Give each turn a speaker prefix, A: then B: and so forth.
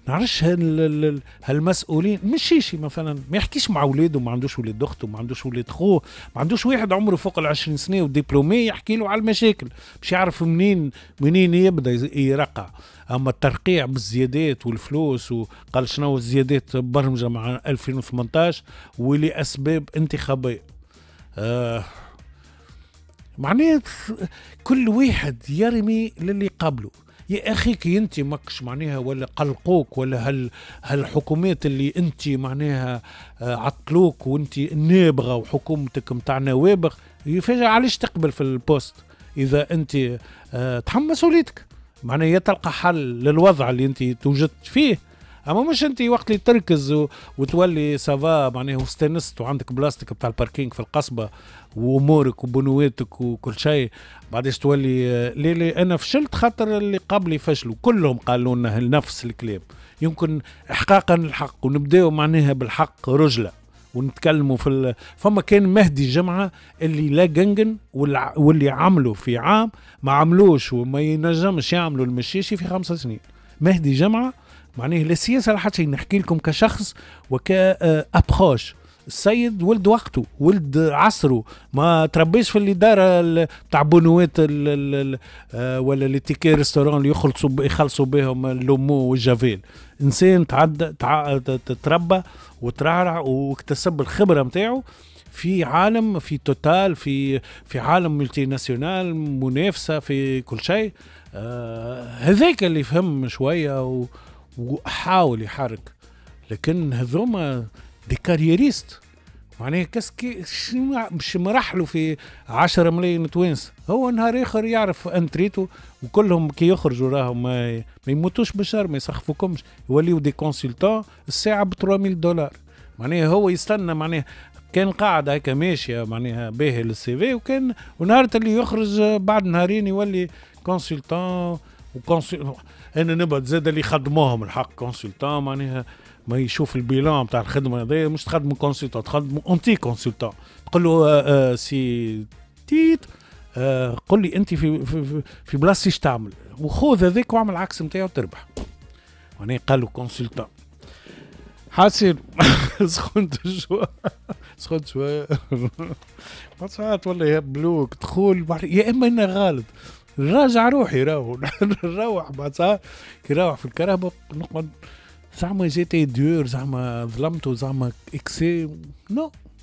A: نعرفش هالمسؤولين مشيشي مثلا ما يحكيش مع اولاده، ما عندوش ولاد اخته، ما عندوش ولاد خوه، ما عندوش واحد عمره فوق 20 سنة و diplômé يحكي له على المشاكل باش يعرف منين يبدا يرقع. اما الترقيع بالزيادات والفلوس، وقال شنو الزيادات برمجة مع 2018 ولاسباب انتخابيه. معناه كل واحد يرمي للي قبله. يا اخي كي انت ماكش معناها ولا قلقوك ولا هالحكومات اللي انت معناها عطلوك وانت نابغه وحكومتك نتاع نوابغ يفاجئ، علاش تقبل في ال poste؟ اذا انت تحمل مسؤوليتك، معناها يا تلقى حل للوضع اللي انت توجدت فيه، اما مش انت وقت اللي تركز وتولي ça va معناها واستانست وعندك بلاصتك بتاع ال parking في القصبة وامورك وبنواتك وكل شيء، بعدش تولي ليه ليه انا فشلت خاطر اللي قبلي فشلوا. كلهم قالوا لنا نفس الكلام. يمكن احقاقا الحق ونبداو معناها بالحق رجله ونتكلموا فما كان مهدي جمعه اللي لا جنجن، واللي عملوا في عام ما عملوش وما ينجمش يعملوا المشيشي في 5 سنين. مهدي جمعه معناه لا سياسة لا حتى شيء، نحكي لكم كشخص وك approche. السيد ولد وقته، ولد عصره، ما تربيش في الادارة تاع بنوات ولا les tickets restaurant اللي يخلصوا بهم l'Omo والجافيل. انسان تعدى تربى وترعرع واكتسب الخبرة نتاعو في عالم، في Total، في عالم multinational، منافسه في كل شيء. هذاك اللي فهم شوية وحاول يحرك، لكن هذوما des carriéristes معناها qu'est-ce que مش مرحلوا في 10 ملايين توانس. هو نهار اخر يعرف انتريتو، وكلهم كي يخرجوا راهم ما يموتوش بالشر، ما يسخفوكمش، يوليو des consultants الساعة ب 3000 دولار. معناها هو يستنى، معناها كان قاعد هكا ماشية معناها باهي لل CV، وكان ونهار اللي يخرج بعد نهارين يولي consultant و انا نبعد زاد اللي خدموهم الحق consultant، معناها ما يشوف ال bilan بتاع الخدمة هذايا. مش تخدموا consultant، تخدموا anti consultant. تقول له سي تيت، قل لي انت في بلاصتي ايش تعمل، وخذ هذاك واعمل العكس نتاعو تربح. معناها قالوا consultant. حاسين سخنت شوي، سخنت شوي. ساعات ولا يهبلوك دخول، يا اما انا غلط نراجع روحي، راهو نروح بعد ساعات كي نروح في الكرهبة نقعد زعما j'étais dur، زعما ظلمته، زعما excès. non.